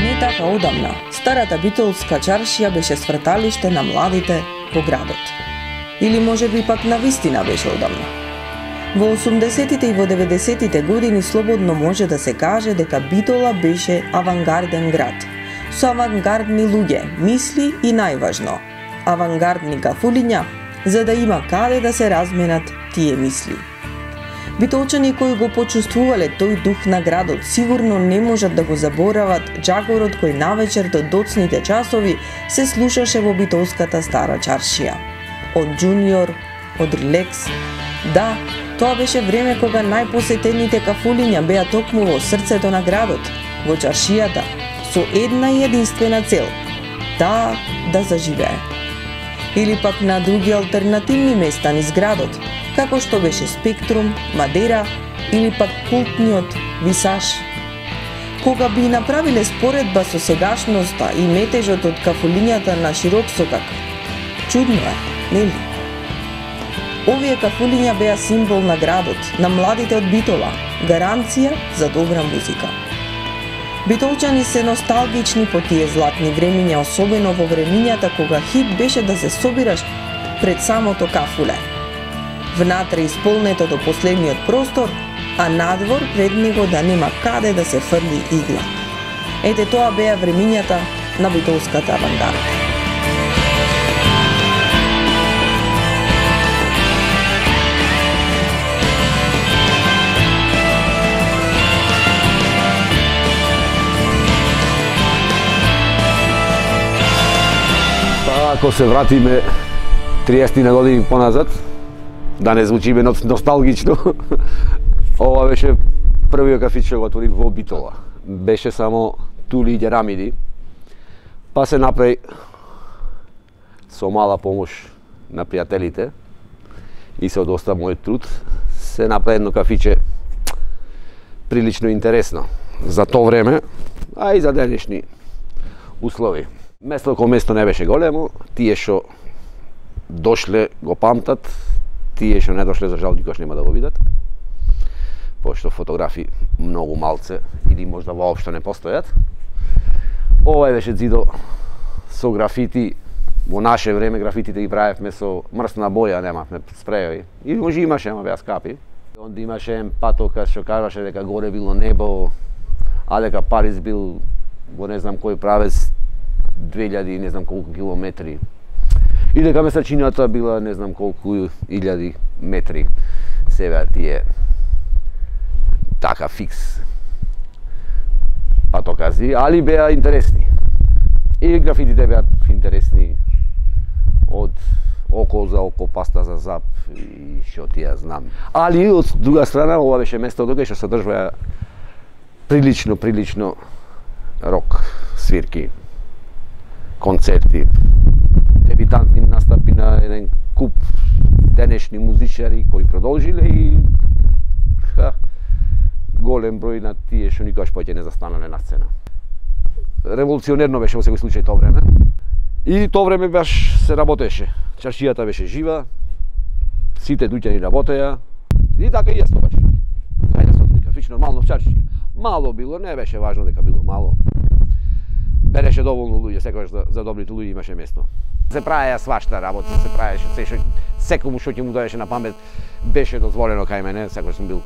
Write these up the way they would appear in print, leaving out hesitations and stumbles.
Не така одамна, старата битолска чаршија беше сврталиште на младите во градот. Или можеби пак навистина беше одамна. Во 80-тите и во 90-тите години слободно може да се каже дека Битола беше авангарден град, со авангардни луѓе, мисли и најважно, авангардни кафулиња, за да има каде да се разменат тие мисли. Битолчани кои го почувствувале тој дух на градот сигурно не можат да го заборават джагорот кој навечер до доцните часови се слушаше во битолската стара чаршија. Од Джуниор, од Релекс. Да, тоа беше време кога најпосетените кафулиња беа токму во срцето на градот, во чаршијата, со една и единствена цел – таа да заживее. Или пак на други алтернативни места низ градот, како што беше Спектрум, Мадера или пак култниот Висаш. Кога би направиле споредба со сегашноста и метежот од кафулињата на широк сокак, чудно е, нели? Овие кафулиња беа символ на градот, на младите од Битола, гаранција за добра музика. Битолчани се носталгични по тие златни времиња, особено во времињата кога хит беше да се собираш пред самото кафуле. Внатре исполнето до последниот простор, а надвор пред него да нема каде да се фрли игла. Ете тоа беа времињата на битолската авангарда. Ако се вратиме 30 на години поназад, да не звучиме носталгично, ова беше првиот кафич што го отвори во Битола. Беше само тули и ѓерамиди, па се направи со мала помош на пријателите и со доста мој труд, се направи едно кафиче прилично интересно за тоа време, а и за денешни услови. Место кој место не беше големо, тие што дошле го памтат, тие што не дошле за жал никош нема да го видат, пошто фотографи многу малце или можда воопшто не постојат. Ова беше зидо со графити. Во наше време графитите ги правевме со мрсна боја, немавме спрејови. И може имаше, ама беа скапи. Онда имаше еден патокас што кажаше дека горе било небо, а дека Париз бил во не знам кој правец 2000 не знам колку километри. И дека месечината била не знам колку илјади метри. Се беа тие така фикс патокази, али беа интересни. И графитите беа интересни од око за око, паста за зап и што ти ја знам. Али од друга страна ова беше место кај што се одржуваа прилично рок свирки, концерти, дебитантни настапи на еден куп денешни музичари кои продолжиле и голем број на тие што никогаш повеќе не застанале на сцена. Револуционерно беше во секој случај тоа време. И тоа време баш се работеше. Чаршијата беше жива, сите дуќани работеа и така и јас тоа беше. Ајде со кафич нормално в чаршија. Мало било, не беше важно дека било мало. Береше доволно луѓе, секогаш за добрите луѓе имаше место. Се правеа свашта работа, се правеше секому што ќе му доеше на памет беше дозволено кај мене, секогаш сум бил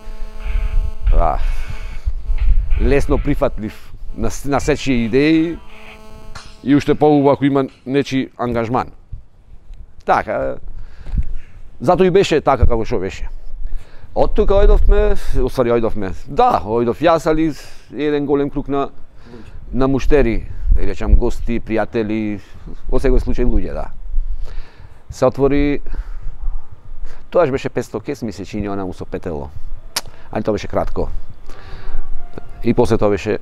лесно прифатлив на сечија идеи и уште поубаво ако има нечи ангажман. Така, зато и беше така како што беше. Од тука ојдовме, ојдов јас, али еден голем круг на муштери, да речам гости, пријатели, во секој случај луѓе, да. Се отвори, тоаш беше 500 кес, ми се чини она му со петело. Али тоа беше кратко. И после тоа беше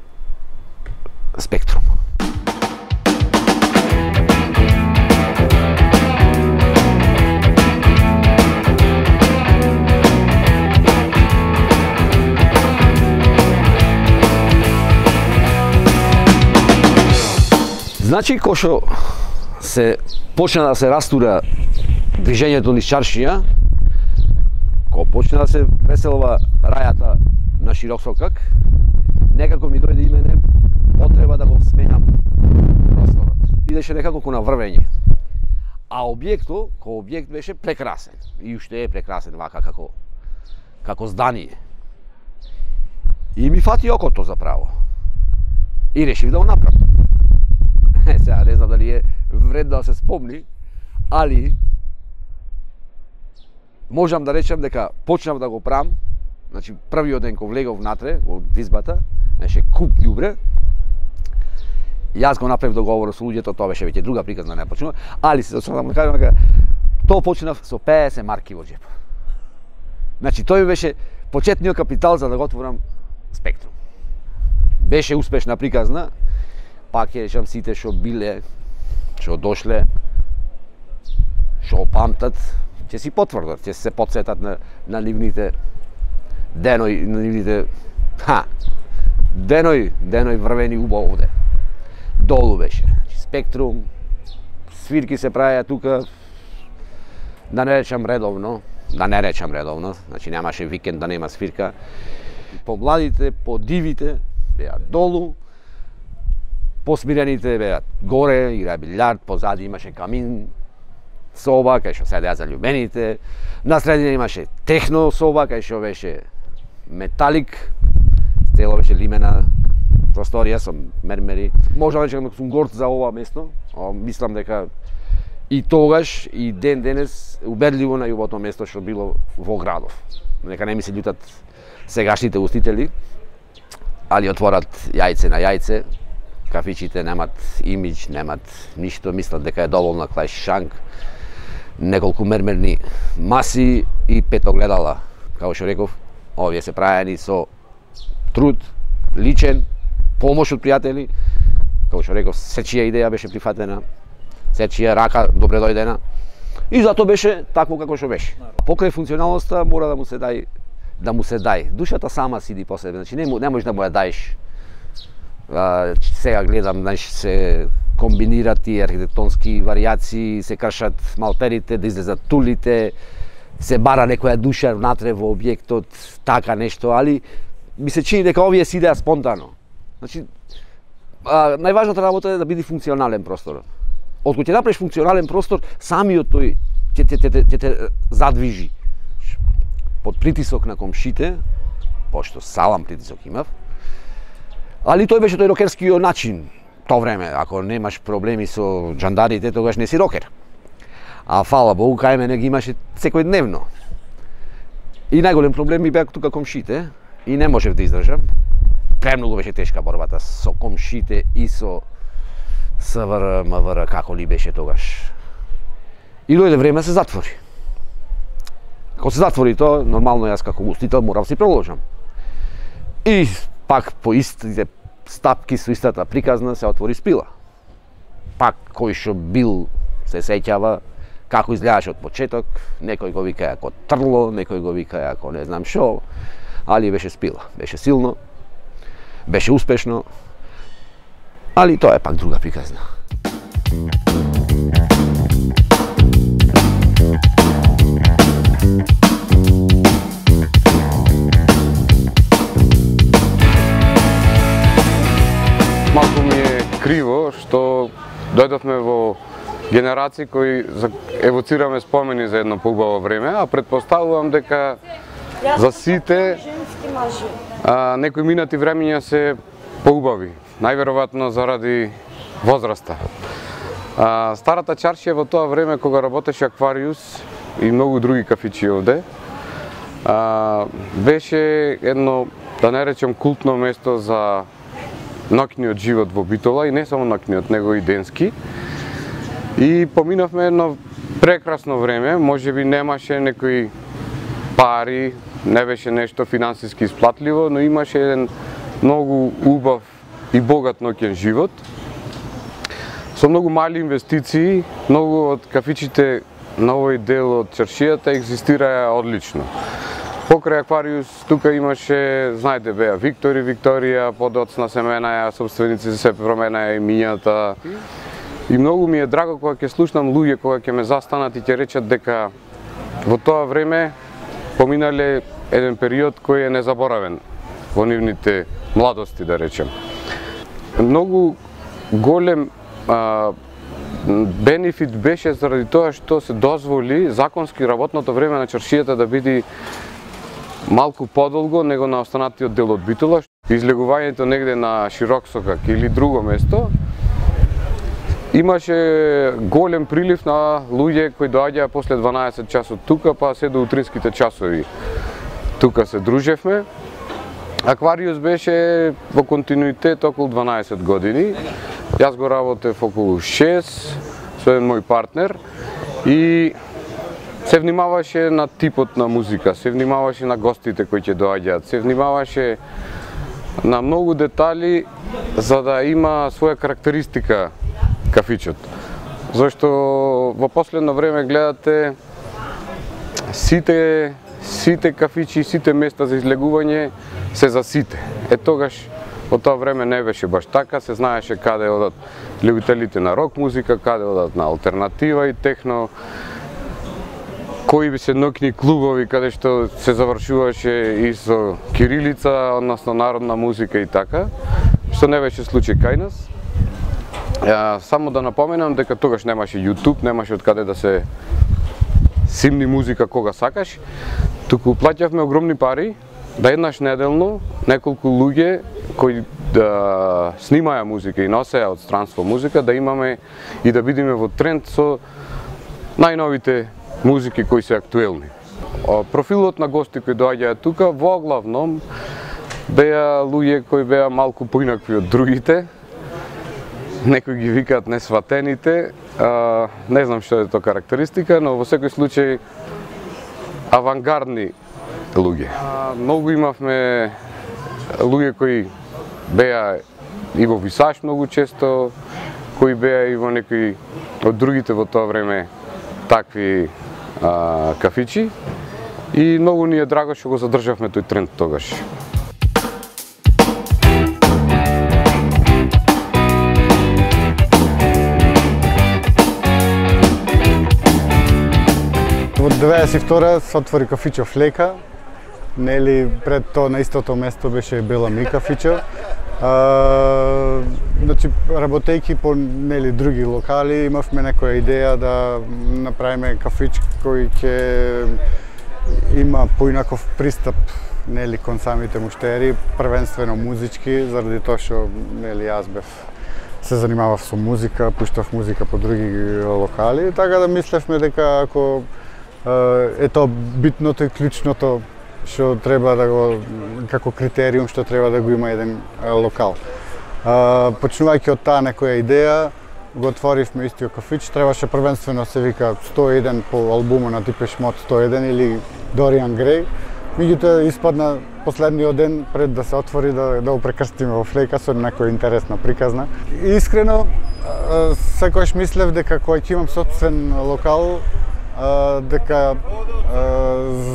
Спектрум. Значи, кој што се почна да се растура движењето низ чаршија, кога почна да се преселва рајата на широк сокак, некако ми дојде и мене потреба да го сменам просторот. Идеше некако ко на врвење. А објектот, кој објект беше прекрасен. И уште е прекрасен вака како здание. И ми фати окото заправо. И решив да го направам. Сега не знам дали е вредно да се спомни, али можам да речем дека почнав да го правам. Значи првиот ден кога влегов внатре во избата, беше куп ѓубре. Јас го направив договор со луѓето, тоа беше веќе друга приказна, не почнува, али се да кажам дека тоа почнав со 50 марки во џеп. Значи тој беше почетниот капитал за да го отворам Спектрум. Беше успешна приказна, пак ќе речам сите што биле, што дошле, што памтат, ќе си потврдат, ќе се потсетат на нивните деној, на нивните деној врвени убаво овде. Долу беше. Спектрум, свирки се правеа тука, да не речам редовно, значи немаше викенд да нема свирка. Помладите, подивите беа долу, посмирените беа горе, играа билјард, позади имаше камин соба, кај што седеа заљубените, на средина имаше техно соба, кај што беше металик, цело беше лимена просторија со мермери. Можам да речам дека сум горд за ова место, мислам дека и тогаш и ден денес убедливо најубавото место што било во градов. Нека не ми се љутат сегашните устители, али отворат јајце на јајце, кафичите немат имидж, немат ништо, мислат дека е доволна клај шанк, неколку мермерни маси и 5 огледала. Како што реков, овие се правени со труд, личен, помош од пријатели, како што реков, сечија идеја беше прифатена, сечија рака добре дојдена и затоа беше такво како што беше. Покрај функционалноста мора да му се дај. Душата сама сиди по себе, значи не можеш да му ја даеш. Сега гледам, знаеш, се комбинират и архитектонски варијации, се кршат малперите, да излезат тулите, се бара некоја душа внатре во објектот, така нешто, али ми се чини дека овие си идеа спонтано. Значи, најважната работа е да биде функционален простор. Откога ќе направиш функционален простор, самиот тој ќе те задвижи. Под притисок на комшите, пошто салам притисок имав, али тој беше тој рокерскиот начин. Тоа време, ако немаш проблеми со джандарите, тогаш не си рокер. А фала Богу, кај мене ги имаше секојдневно. И најголем проблем ми беа тука комшите и не можев да издржам. Премногу беше тешка борбата со комшите и со СВР, МВР, како ли беше тогаш. И дојде време се затвори. Кога се затвори тоа, нормално јас како гостител морав си проложам. И пак по истите стапки со истата приказна се отвори Спила. Пак кој што бил се сеќава како изгледаше од почеток, некој го вика како Трло, некој го вика како не знам шо, али беше Спила. Беше силно, беше успешно, али тоа е пак друга приказна. Малку ми е криво што дојдовме во генерации кои евоцираме спомени за едно поубаво време, а претпоставувам дека за сите некои минати времења се поубави, најверојатно заради возраста. Старата чаршија во тоа време кога работеше Аквариус и многу други кафичи овде, беше едно, да не речем, култно место за ноќниот живот во Битола и не само ноќниот, него и денски. И поминавме едно прекрасно време, можеби немаше некои пари, не беше нешто финансиски исплатливо, но имаше еден многу убав и богат ноќен живот. Со многу мали инвестиции, многу од кафичите на овој дел од чаршијата екзистираа одлично. Покрај Аквариус тука имаше, знаете, беа Викторија, подоцна се менаја, собственици се променаја имињата. И многу ми е драго кога ќе слушнам луѓе кога ќе ме застанат и ќе речат дека во тоа време поминале еден период кој е незаборавен во нивните младости, да речем. Многу голем бенефит беше заради тоа што се дозволи законски работното време на чаршијата да биде малку подолго него на останатиот дел од Битола. Излегувањето негде на Широксокак или друго место имаше голем прилив на луѓе кои доаѓаа после 12 часот тука, па се до утринските часови. Тука се дружевме. Аквариус беше во континуитет околу 12 години. Јас го работев околу 6 со еден мој партнер и се внимаваше на типот на музика, се внимаваше на гостите кои ќе доаѓаат, се внимаваше на многу детали за да има своја карактеристика кафичот. Зашто во последно време гледате сите кафичи, сите места за излегување се за сите. Тогаш во тоа време не беше баш така, се знаеше каде одат љубителите на рок музика, каде одат на алтернатива и техно, кои би се ноќни клубови каде што се завршуваше и со кирилица, односно народна музика и така, што не беше случај кај нас. Само да напоменам дека тогаш немаше YouTube, немаше од каде да се симни музика кога сакаш, туку плаќавме огромни пари да еднаш неделно неколку луѓе кои да снимаја музика и носеја од странство музика, да имаме и да бидеме во тренд со најновите музики кои се актуелни. Профилот на гости кои доаѓаат тука во главном беа луѓе кои беа малку поинакви од другите. Некои ги викаат несватените, не знам што е тоа карактеристика, но во секој случај авангардни луѓе. Многу имавме луѓе кои беа и во Висаш многу често, кои беа и во некои од другите во тоа време такви кафичи и многу ни е драго што го задржавме тој тренд тогаш. Во 92 се отвори кафичо Флека, нели пред тоа на истото место беше Бела Ми кафичо. Значи работејќи по нели други локали имавме некоја идеја да направиме кафич кој ќе има поинаков пристап нели кон самите муштери, првенствено музички, заради тоа што нели јас се занимавав со музика, пуштав музика по други локали, така да мислевме дека ако е тоа битното и клучното што треба да го како критериум што треба да го има еден локал. Почнувајќи од таа некоја идеја, го отворивме истиот кафич, требаше првенствено се вика 101 по албумот на Depeche Mode 101 или Dorian Gray. Меѓутоа испадна последниот ден пред да се отвори да го прекрстиме во Флека со некоја интересна приказна. Искрено секогаш мислев дека кога ќе имам сопствен локал дека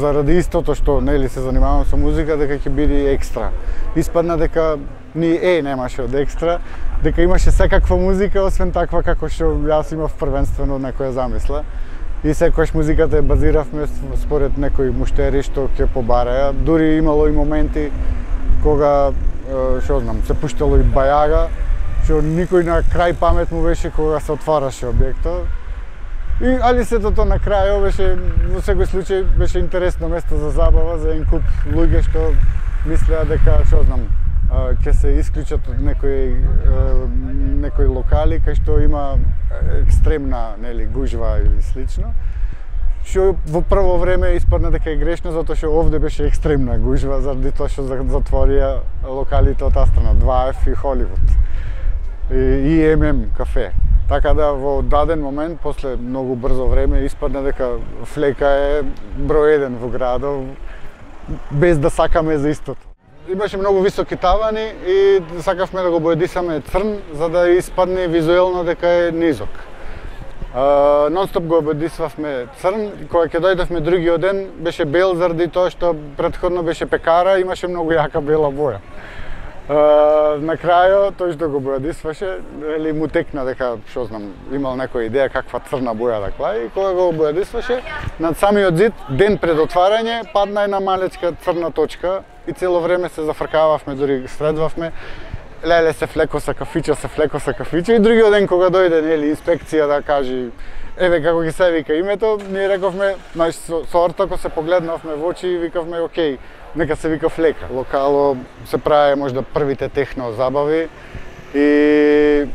заради истото што нели се занимавам со музика дека ќе биде екстра. Испадна дека ни немаше од екстра, дека имаше секаква музика освен таква како што јас имав првенствено некоја замисла. И секогаш музиката ја базиравме според некои муштери што ќе побараја. Дури имало и моменти кога што знам, се пуштало и бајага, што никој на крај памет му беше кога се отвараше објектот. Али сето тоа на крај беше во секој случај беше интересно место за забава за еден куп луѓе што мислеа дека што знам ќе се исклучат од некои локали кај што има екстремна нели гужва или слично. Што во прво време испадна дека е грешно затоа што овде беше екстремна гужва заради тоа што затворија локалите од таа страна 2F и Холивуд и ММ кафе. Така да во даден момент, после многу брзо време, испадна дека Флека е број 1 во градот, без да сакаме за истото. Имаше многу високи тавани и сакавме да го боедисаме црн, за да испадне визуелно дека е низок. Нонстоп го боедисвавме црн, кога ќе дојдовме другиот ден, беше бел заради тоа што претходно беше пекара, имаше многу јака бела боја. На крајот, тој што го бојадисваше, или му текна дека, што знам, имал некоја идеја каква црна боја да клаи, и кога го бојадисваше, над самиот зид, ден пред отварање, падна една малечка црна точка и цело време се зафркававме, дури следвавме. Леле се флекоса кафича, и другиот ден кога дојде, нели, инспекција да кажи еве како ги се вика името, ние рековме, знаеш, со Ортако се погледнавме во очи и викавме, окей, нека се вика Флека. Локало се прави можда првите техно забави и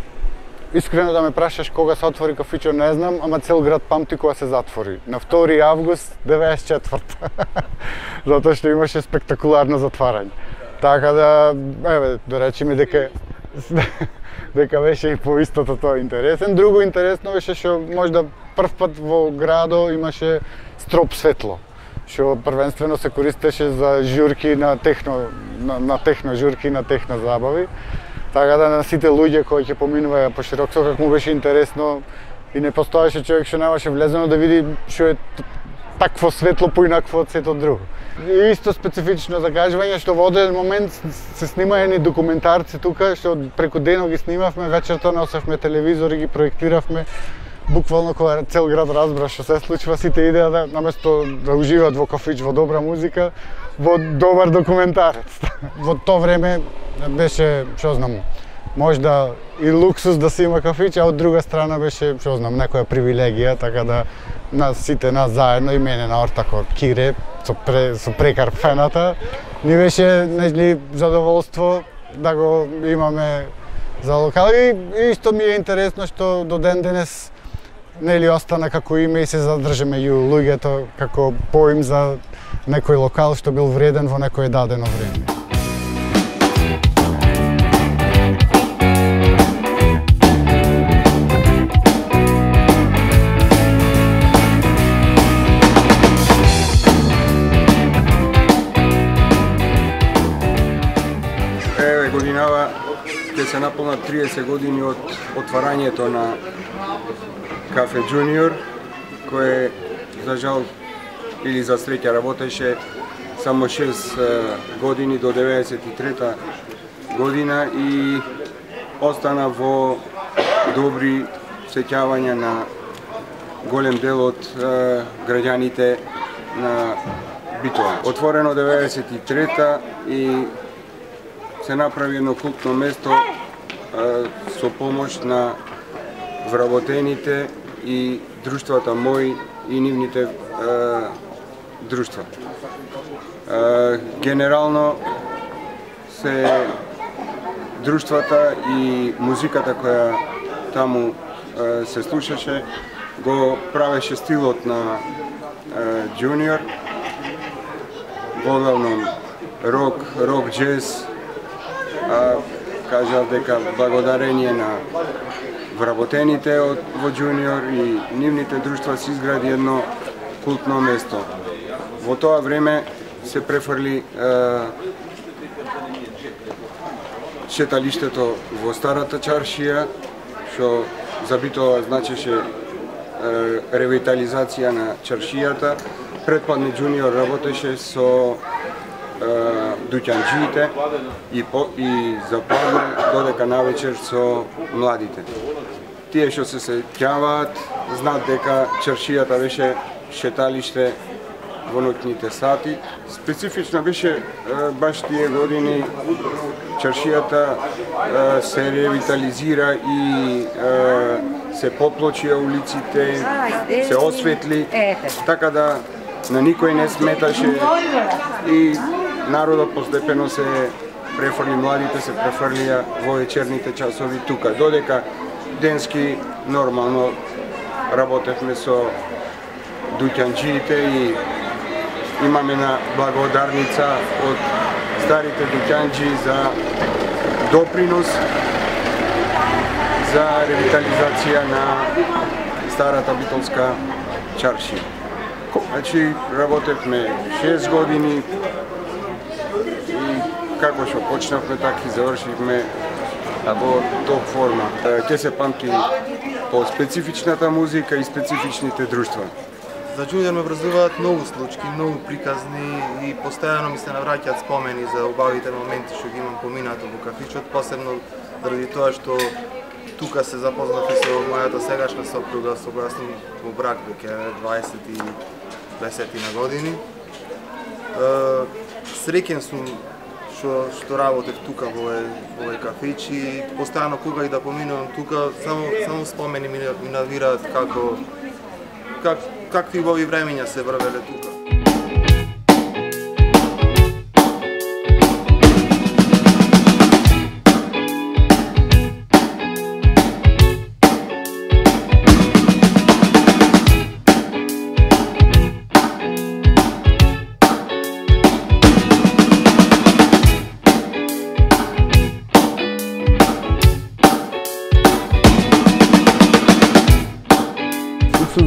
искрено да ме прашаш кога се отвори кафичо, не знам, ама цел град памти кога се затвори. На 2 август 94. Затоа што имаше спектакуларно затварање. Така да, еве, да речеме дека беше и по истото тоа интересен. Друго интересно беше што можда прв пат во градо имаше строп светло, што првенствено се користеше за журки на техно журки, на техно забави. Така да на сите луѓе кои ќе поминуваја по широк сокак му беше интересно и не постоеше човек што немаше влезено да види што е такво светло поинакво од сето друго. И исто специфично закажување што во одреден момент се снимаени документарци тука, што преку денот ги снимавме, вечерта носевме телевизор и ги проектиравме. Буквално кога цел град разбра што се случува, сите идеа да наместо да уживаат во кафич, во добра музика, во добар документарец. Во тоа време беше, што знам, можда и луксус да се има кафич, а од друга страна беше, што знам, некоја привилегија, така да сите нас заедно и мене на Ортако Кире со Прекар фената, ни беше нели задоволство да го имаме за локал. И исто ми е интересно што до ден денес нели остана како име и се задржа меѓу луѓето како поим за некој локал што бил вреден во некое дадено време. Годинава ќе се наполнат 30 години од отварањето на Кафе Джуниор, кое за жал или за среќа работеше само 6 години до 93 година и остана во добри сеќавања на голем дел од граѓаните на Битола. Отворено 93-та и се направи едно култно место со помош на вработените и друштвата мои и нивните друштва. Генерално се друштвата и музиката која таму се слушаше го правеше стилот на Джуниор, воглавном рок, джез. Кажав дека благодарение на вработените во Джуниор и нивните друштва се изгради едно култно место. Во тоа време се префрли шеталиштето во старата чаршија, што за Битола значеше ревитализација на чаршијата. Предпадни Джуниор работеше со дуќанџиите и западне додека навечер со младите. Тие што се сеќаваат знаат дека чаршијата беше шеталиште во ноќните сати. Специфично беше баш тие години чаршијата се ревитализира и се поплочија улиците, се осветли, така да на никој не сметаше и народот постепено се префрли, младите се префрлија во вечерните часови тука. Додека денски нормално работевме со дуќанџиите и имаме на благодарница од старите дуќанџи за допринос за ревитализација на старата битолска чаршија. Значи, работевме 6 години и како што почнавме, така и завршивме во топ форма. Ќе се памти по специфичната музика и специфичните друштва. За џуниор ме врзуваат многу случаи, многу приказни и постојано ми се навраќаат спомени за убавите моменти што ги имам поминато во кафичот, посебно заради тоа што тука се запознав и со мојата сегашна сопруга, со која сум во брак веќе 20 на години. Среќен сум што работев тука во овој кафич и постојано кога и да поминувам тука, само спомени ми навираат какви убави времења се врвеле тука.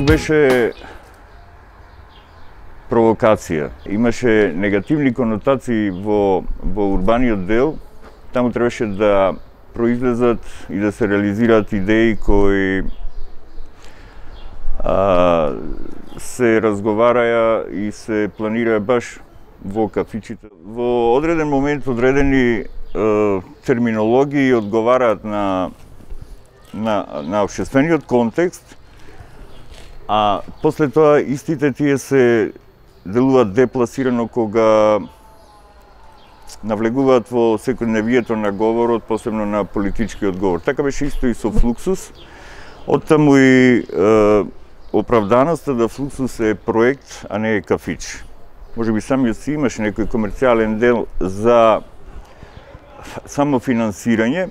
Беше провокација. Имаше негативни конотации во урбаниот дел. Таму требаше да произлезат и да се реализираат идеи кои се разговараја и се планираја баш во кафичите. Во одреден момент одредени терминологии одговараат на општествениот контекст, а после тоа истите тие се делуваат депласирано кога навлегуваат во секојдневието на говорот, посебно на политичкиот говор. Така беше исто и со Флуксус. Оттаму и оправданоста да Флуксус е проект, а не е кафич. Може би самиот си имаше некој комерцијален дел за самофинансирање,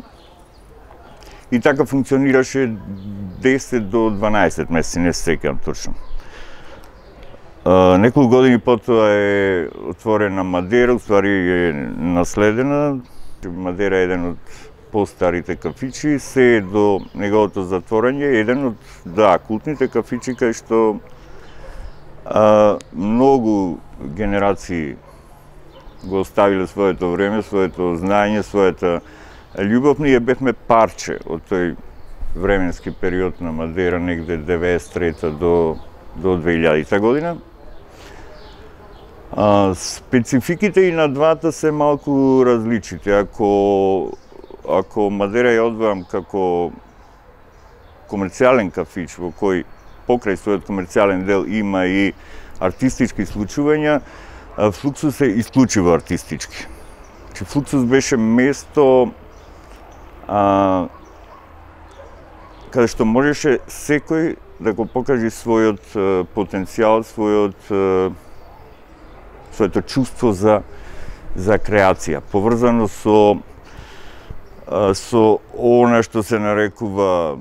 и така функционираше 10 до 12 месеци, не се сеќавам точно. Неколку години потоа е отворена Мадера, уствари е наследена. Мадера е еден од постарите кафичи, се до неговото затворање, еден од култните кафичи кај што многу генерации го оставиле своето време, своето знаење, својата љубов. Ние бевме парче од тој временски период на Мадера, негде 93 до 2000 година. Спецификите и на двата се малку различити. Ако Мадера ја одвојам како комерцијален кафич, во кој покрај својот комерцијален дел има и артистички случувања, Флуксус е исклучиво артистички. Флуксус беше место каде што можеше секој да го покаже својот потенцијал, своето чувство за креација, поврзано со она што се нарекува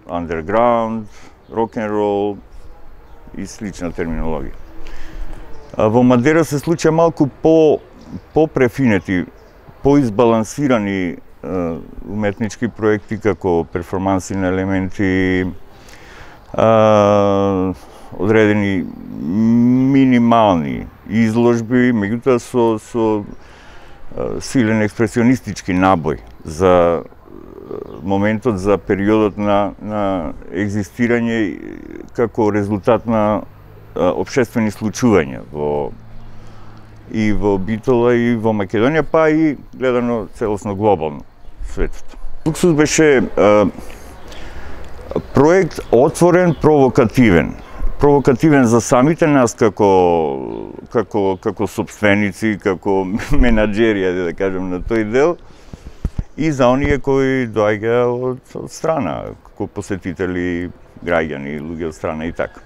underground, рок-н-рол и слична терминологија. Во Мадера се случија малку по-префинети, по-избалансирани уметнички проекти како перформанси на елементи, одредени минимални изложби, меѓутоа со силен експресионистички набој за моментот, за периодот на екзистирање како резултат на општествени случувања и во Битола и во Македонија, па и гледано целосно глобално светот. Флуксус беше проект отворен, провокативен за самите нас како сопственици, како менаџери, да кажем, на тој дел, и за оние кои доаѓа од страна, како посетители, граѓани, луѓе од страна и така.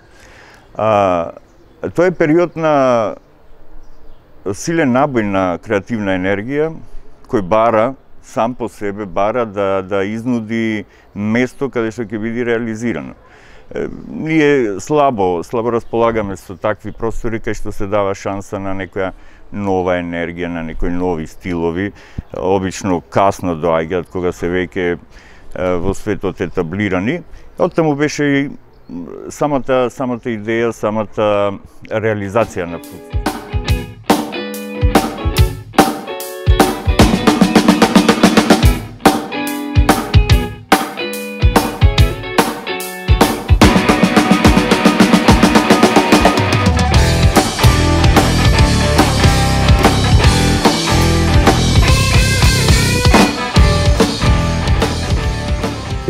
Тој е период на силен набој на креативна енергија, кој бара, сам по себе бара да изнуди место каде што ќе биде реализирано. Ние слабо располагаме со такви простори кај што се дава шанса на некоја нова енергија, на некои нови стилови. Обично касно доаѓаат кога се веќе во светот етаблирани. Оттаму беше и самата идеја, самата реализација на Флуксус.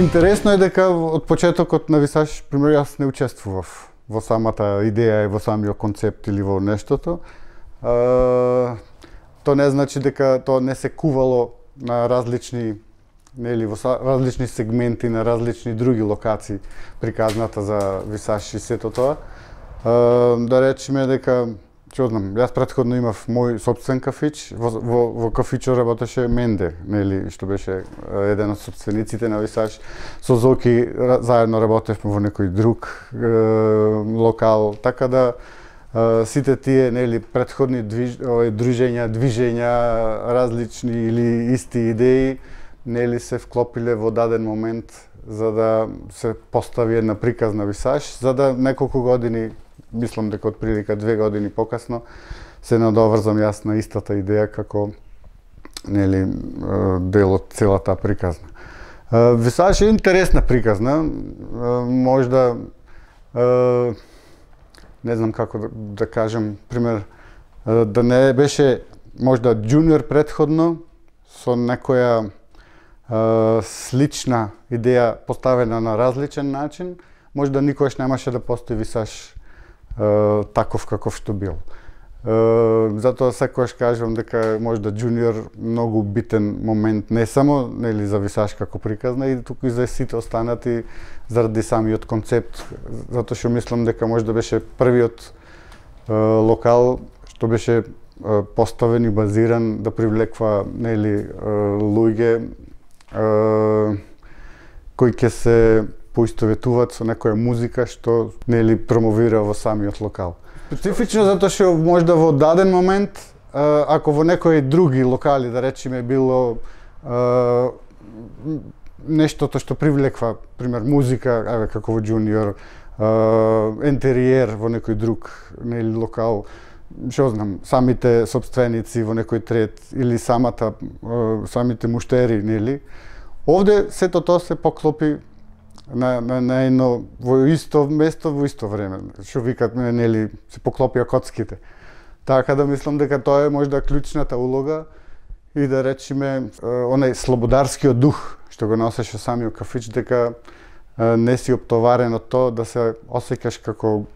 Интересно е дека од почетокот на Висаш, пример, јас не учествував во самата идеја и во самиот концепт или во нештото. Тоа не значи дека тоа не се кувало на различни, нели, во различни сегменти на различни други локации приказната за Висаш и сето тоа. Да речеме дека, што знам, јас претходно имав мој сопствен кафич, во кафичот работеше Менде, нели, што беше еден од сопствениците на Висаш. Со Зоки заедно работевме во некој друг локал, така да сите тие, нели, претходни движења, различни или исти идеи, нели, се вклопиле во даден момент за да се постави една приказна Висаш, за да неколку години, мислам дека од прилика 2 години покасно, се надоврзам јас на истата идеја како, нели, дел од целата приказна. Висаш е интересна приказна, можда не знам како да кажам, пример, да не беше можда джуниор претходно со некоја слична идеја поставена на различен начин, можда никогаш немаше да постои Висаш таков каков што бил. Затоа секогаш кажувам дека можда джуниор многу битен момент не само, нели, за Висаш како приказна, и туку и за сите останати заради самиот концепт, затоа што мислам дека можда беше првиот локал што беше поставен и базиран да привлекува, нели, луѓе кои ќе се поистоветуваат со некоја музика што, нели, промовира во самиот локал. Специфично затоа што можда во даден момент, ако во некои други локали, да речеме, било нештото што привлеква, пример, музика, еве како во Джуниор, ентериер во некој друг, нели, локал, што знам, самите сопственици во некој трет или самите муштери, нели. Овде сето тоа се поклопи на едно во исто место во исто време. Што викат, нели, се поклопија коцките. Така да мислам дека тоа е можда клучната улога и да речеме онај слободарскиот дух што го носеше самиот кафич, дека не си оптоварен од тоа да се осеќаш како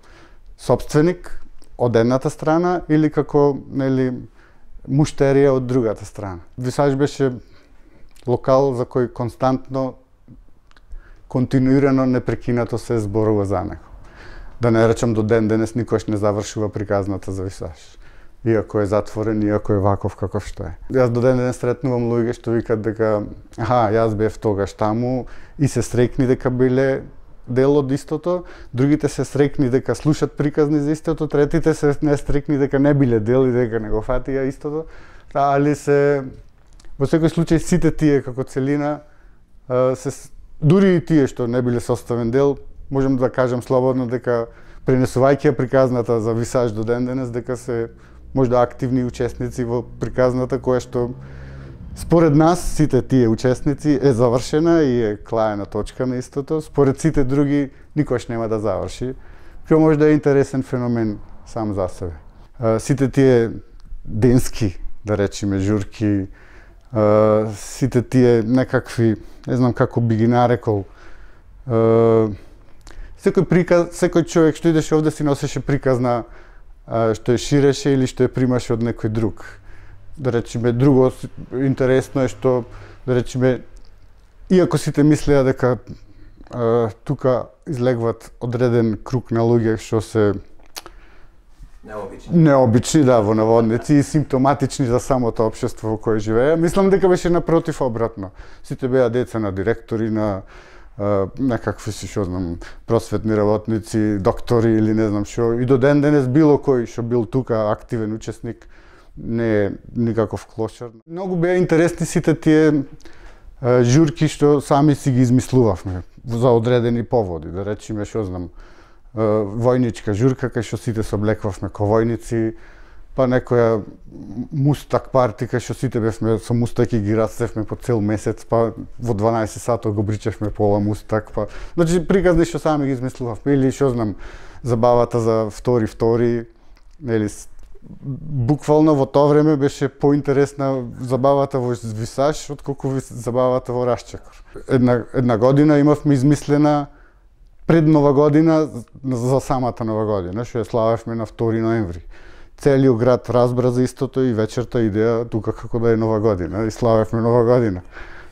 сопственик од едната страна или како, нели, муштерија од другата страна. Висаш беше локал за кој константно, континуирано, непрекинато се зборува за него. Да не речам до ден денес никош не завршува приказната за Висаш. Иако е затворен, иако е ваков каков што е. Јас до ден денес сретнувам луѓе што викат дека јас бев тогаш таму и се срекни дека биле дел од истото, другите се срекни дека слушат приказни за истото, третите се не срекни дека не биле дел и дека не го фатија истото, али се во секој случај сите тие како целина дури и тие што не биле составен дел, можам да кажам слободно дека пренесувајќи приказната за Висаш до ден денес, дека се можда активни учесници во приказната која што според нас сите тие учесници е завршена и е клаена точка на истото, според сите други никош нема да заврши, кој може да е интересен феномен сам за себе. Сите тие денски, да речеме, журки, сите тие некакви, не знам како би ги нарекол, секој човек што идеше овде си носеше приказна што ја ширеше или што ја примаше од некој друг. Да речеме, друго интересно е што, да речеме, иако сите мислеа дека тука излегват одреден круг на луѓе што се необични, да, во наводници, и симптоматични за самото општество во кое живееа, мислам дека беше напротив обратно. Сите беа деца на директори, на некакви си, што знам, просветни работници, доктори или не знам што, и до ден денес било кој што бил тука активен учесник не е никаков клошар. Многу беа интересни сите тие журки што сами си ги измислувавме за одредени поводи, да речеме, што знам, војничка журка кај што сите се облеквавме ко војници, па некоја мустак парти кај што сите бевме со мустаки ги растевме по цел месец, па во 12 сато го бричевме пола мустак, па значи приказни што сами ги измислувавме, или што знам, забавата за втори, нели, буквално во тоа време беше поинтересна забавата во Висаш отколку забавата во Рашчекор. Една година имавме измислена пред Нова година за самата Нова година, што ја славевме на 2 ноември. Целиот град разбра за истото и вечерта идеја тука како да е Нова година и славевме Нова година.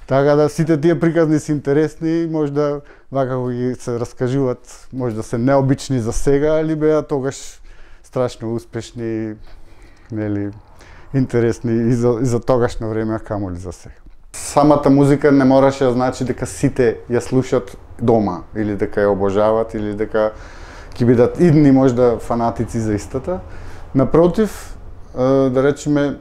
Така да сите тие приказни се интересни, можда вака кога ги се раскажуваат, можда се необични за сега, али беа тогаш страшно успешни, нели, интересни и за тогашно време, камоли за сега. Самата музика не мораше да значи дека сите ја слушат дома, или дека ја обожават, или дека ќе бидат идни можда фанатици за истата. Напротив, да речеме,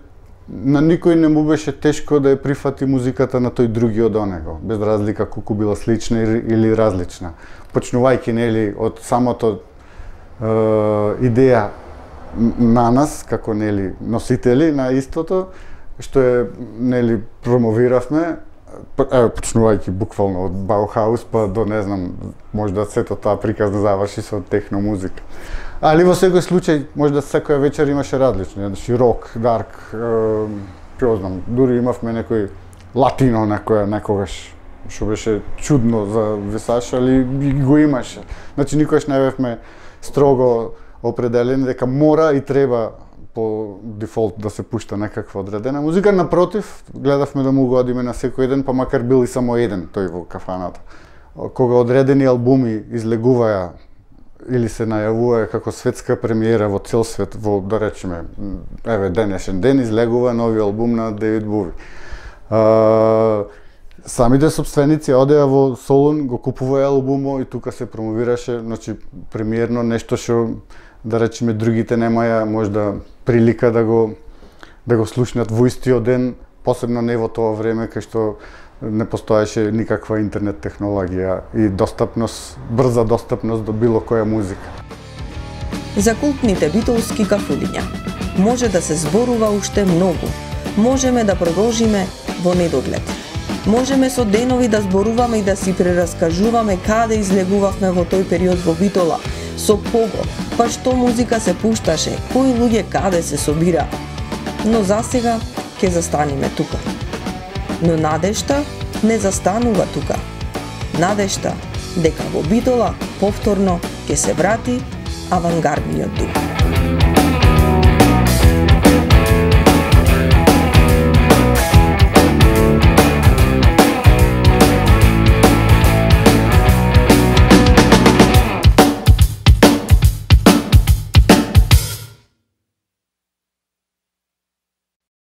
на никој не му беше тешко да ја прифати музиката на тој други од онего, без разлика колку била слична или различна. Почнувајќи, нели, од самото идеја на нас како, нели, носители на истото, што е, нели, промовиравме, почнувајќи буквално од Баухаус па до, не знам, можда сето таа приказна заврши со техно музика. Али во секој случај, можда секоја вечер имаше различно, значи рок, дарк, ќе знам, дури имавме некој латино некогаш, што беше чудно за Висаш, али го имаше. Значи никогаш не бевме строго определени дека мора и треба по дефолт да се пушта некаква одредена музика. Напротив, гледавме да му угодиме на секој ден, па макар бил и само еден тој во кафаната. Кога одредени албуми излегуваја или се најавува како светска премиера во цел свет, во, да речеме, еве денешен ден излегува нови албум на Девид Бови. Самите собственици одеа во Солун, го купуваја албумот и тука се промовираше, значи премиерно нешто што, да речеме, другите немаја можда прилика да го слушнат во истиот ден, посебно не во тоа време кај што не постоеше никаква интернет технологија и достапност, брза достапност до било која музика. За култните битолски кафулиња може да се зборува уште многу. Можеме да продолжиме во недоглед. Можеме со денови да зборуваме и да си прераскажуваме каде излегувавме во тој период во Битола, со кого, па што музика се пушташе, кои луѓе каде се собира. Но засега ќе застанеме тука. Но надежта не застанува тука. Надежта дека во Битола повторно ќе се врати авангардниот дух.